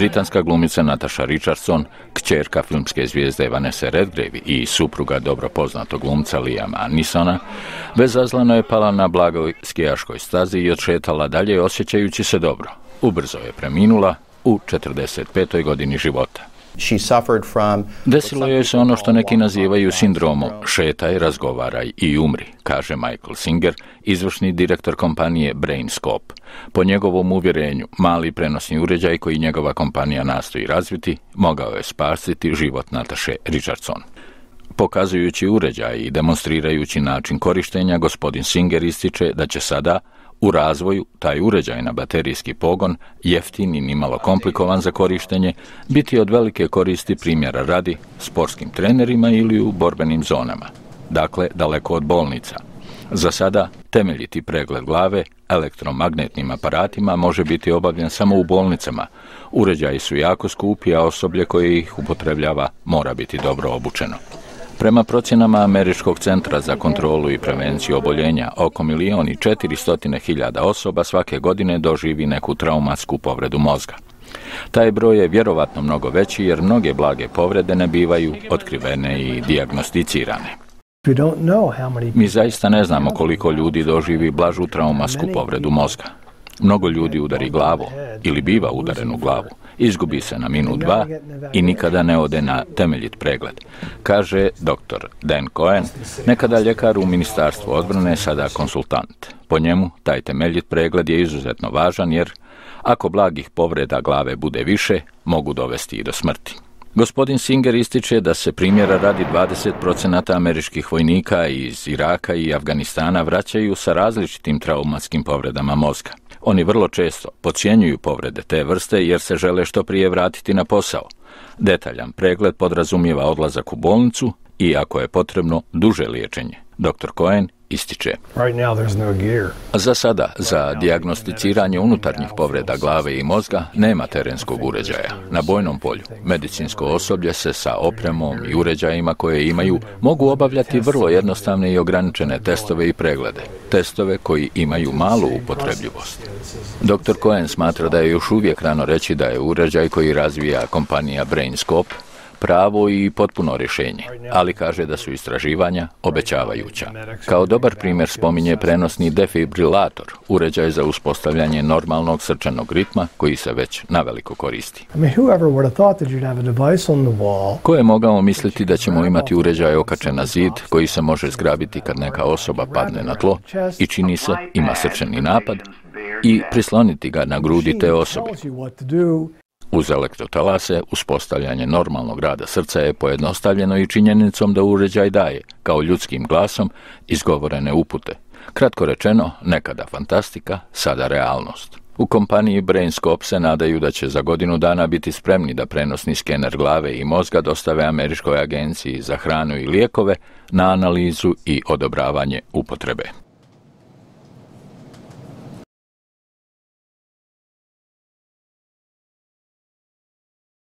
Britanska glumica Natasha Richardson, kćerka filmske zvijezde Vanessa Redgrave i supruga dobro poznatog glumca Liama Neesona, bezazleno je pala na blagoj skijaškoj stazi i odšetala dalje osjećajući se dobro. Ubrzo je preminula u 45. godini života. Desilo joj se ono što neki nazivaju sindromom šetaj, razgovaraj i umri, kaže Michael Singer, izvršni direktor kompanije BrainScope. Po njegovom uvjerenju, mali prenosni uređaj koji njegova kompanija nastoji razviti, mogao je spasiti život Natashe Richardson. Pokazujući uređaj i demonstrirajući način korištenja, gospodin Singer ističe da će sada u razvoju taj uređaj na baterijski pogon, jeftin i nimalo komplikovan za korištenje, biti od velike koristi primjera radi sportskim trenerima ili u borbenim zonama. Dakle, daleko od bolnica. Za sada, temeljiti pregled glave elektromagnetnim aparatima može biti obavljen samo u bolnicama. Uređaji su jako skupi, a osoblje koje ih upotrebljava mora biti dobro obučeno. Prema procjenama Američkog centra za kontrolu i prevenciju oboljenja, oko 1.400.000 osoba svake godine doživi neku traumatsku povredu mozga. Taj broj je vjerovatno mnogo veći jer mnoge blage povrede ne bivaju otkrivene i dijagnosticirane. Mi zaista ne znamo koliko ljudi doživi blažu traumatsku povredu mozga. Mnogo ljudi udari glavu ili biva udaren u glavu, izgubi se na minut, dva i nikada ne ode na temeljit pregled, kaže dr. Dan Cohen, nekada ljekar u Ministarstvu odbrane, sada konsultant. Po njemu, taj temeljit pregled je izuzetno važan jer, ako blagih povreda glave bude više, mogu dovesti i do smrti. Gospodin Singer ističe da se primjera radi 20% američkih vojnika iz Iraka i Afganistana vraćaju sa različitim traumatskim povredama mozga. Oni vrlo često podcjenjuju povrede te vrste jer se žele što prije vratiti na posao. Detaljan pregled podrazumijeva odlazak u bolnicu i, ako je potrebno, duže liječenje. Dr. Cohen ističe. Za sada, za dijagnosticiranje unutarnjih povreda glave i mozga nema terenskog uređaja. Na bojnom polju, medicinsko osoblje se sa opremom i uređajima koje imaju mogu obavljati vrlo jednostavne i ograničene testove i preglede. Testove koji imaju malu upotrebljivost. Dr. Cohen smatra da je još uvijek rano reći da je uređaj koji razvija kompanija BrainScope pravo i potpuno rješenje, ali kaže da su istraživanja obećavajuća. Kao dobar primjer spominje prenosni defibrilator, uređaj za uspostavljanje normalnog srčanog ritma koji se već naveliko koristi. Ko je mogao misliti da ćemo imati uređaj okačen na zid koji se može zgrabiti kad neka osoba padne na tlo i čini se ima srčani napad i prisloniti ga na grudi te osobe. Uz elektrotalase, uspostavljanje normalnog rada srca je pojednostavljeno i činjenicom da uređaj daje, kao ljudskim glasom, izgovorene upute. Kratko rečeno, nekada fantastika, sada realnost. U kompaniji BrainScope se nadaju da će za godinu dana biti spremni da prenosni skener glave i mozga dostave Američkoj agenciji za hranu i lijekove na analizu i odobravanje upotrebe.